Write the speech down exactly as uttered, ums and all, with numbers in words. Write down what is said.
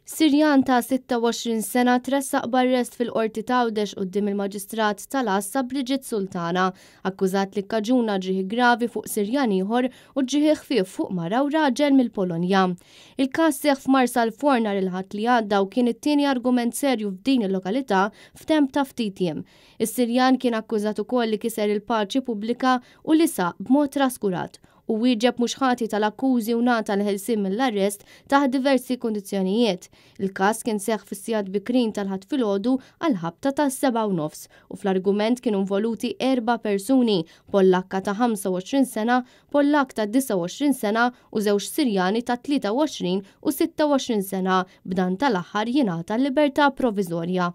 Sirjan ta' sitta u għoxrin sena tressaq b'arrest fil-Qorti t'Għawdex quddiem il-Maġistrat tal-Għassa Brigitte Sultana, akkużat li kkaġuna ġrieħi gravi fuq Sirjan ieħor u ġrieħi ħfief fuq mara u raġel mill-Polonja. Il-każ seħħ f'Marsalforn nhar il-Ħadd li għadda u kien it-tieni argument serju f'din il-lokalità f'temp ta' ftit jiem. Is-Sirjan kien akkużat ukoll li kiser il-paċi pubblika u li saq b'mod traskurat u wieġeb mhux ħati tal-akkużi u ngħata l-ħelsien mill-arrest taħt diversi kundizzjonijiet. Il-każ kien seħħ fis-sigħat bikrin tal-Ħadd filgħodu għal ħabta tas-sebgħa u nofs u fl-argument kienu involuti erba' persuni, Pollakka ta' ħamsa u għoxrin sena, Pollak ta' disgħa u għoxrin sena u żewġ Sirjani ta' tlieta u għoxrin u sitta u għoxrin sena, b'dan tal-aħħar jingħata l-libertà provviżorja.